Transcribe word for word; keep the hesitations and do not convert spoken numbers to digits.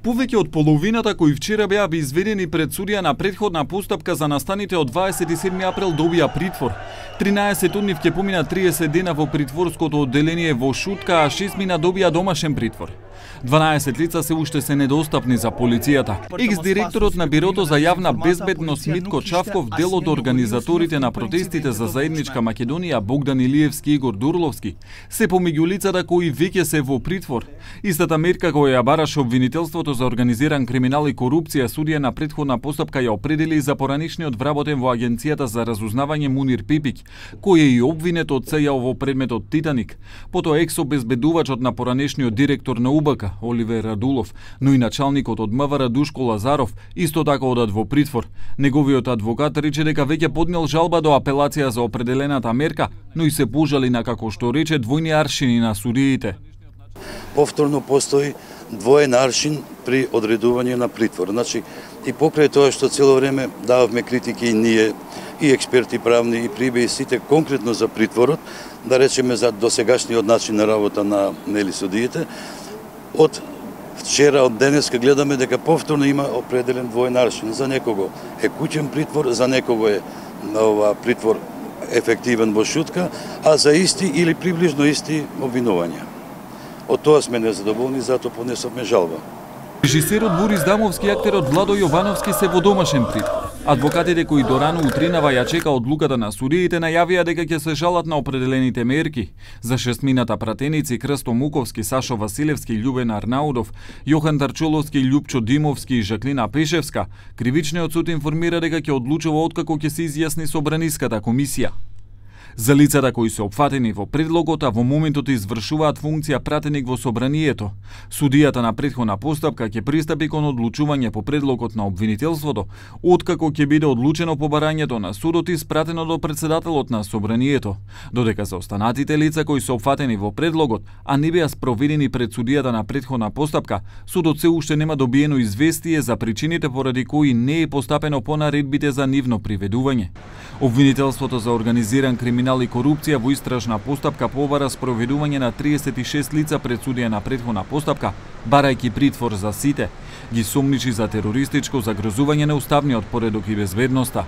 Повеќе од половината кои вчера беа изведени пред судија на претходна постапка за настаните од дваесет и седми април добија притвор. тринаесет од нив ќе помина триесет дена во притворското одделение во Шутка, а шест мина добија домашен притвор. дванаесет лица се уште се недостапни за полицијата. Екс-директорот на Бирото за јавна безбедност Митко Чавков дел од организаторите на протестите за заедничка Македонија Богдан Илиевски и Игор Дурловски се помеѓу лицата кои веќе се во притвор. Истата мерка која ја бараше обвинителството за организиран криминал и корупција, судија на претходна постапка ја определи за поранишниот вработен во Агенцијата за разузнавање Мунир Пипик, кој е и обвинет од сеја во предметот Титаник. Потоа екс-обезбедувачот на поранишниот директор на УБК Оливер Радулов, но и началникот од МВР Душко Лазаров исто така одат во притвор. Неговиот адвокат рече дека веќе поднел жалба до апелација за определената мерка, но и се пожали на, како што рече, двојни аршини на судиите. Повторно постои двоен аршин при одредување на притвор. Значи, и покрај тоа што цело време дававме критики и ние, и експерти правни, и прибе и сите конкретно за притворот, да речеме за досегашниот начин на работа на нели судиите, од вчера, од денеска гледаме дека повторно има определен двоен аршин. За некого е куќен притвор, за некого е ова притвор ефективен во Шутка, а за исти или приближно исти обвинувања. Од тоа сме незадоволни, затоа поднесовме жалба. Режисерот Борис Дамовски и актерот Владо Јовановски се во домашен притвор. Адвокатите кои дорано утринава ја чека одлуката на судиите најавија дека ќе се жалат на определените мерки. За шестмината пратеници Крсто Муковски, Сашо Василевски, Љубен Арнаудов, Јохан Тарчоловски, Љупчо Димовски и Жаклина Пешевска, кривичниот суд информира дека ќе одлучува откако ќе се изјасни собраниската комисија. За лицата кои се опфатени во предлогот, а во моментот извршуваат функција пратеник во собранието, судијата на претходна постапка ќе пристапи кон одлучување по предлогот на обвинителството, откако ќе биде одлучено побарањето на судот и спратено до председателот на собранието, додека за останатите лица кои се опфатени во предлогот, а не беа спроведени пред судијата на претходна постапка, судот се уште нема добиено известие за причините поради кои не е постапено по наредбите за нивно приведување. Обвинителството за организиран криминал и корупција во истражна постапка побара спроведување на триесет и шест лица пред судија на претходна постапка, барајќи притвор за сите. Ги сомничи за терористичко загрозување на уставниот поредок и безбедноста.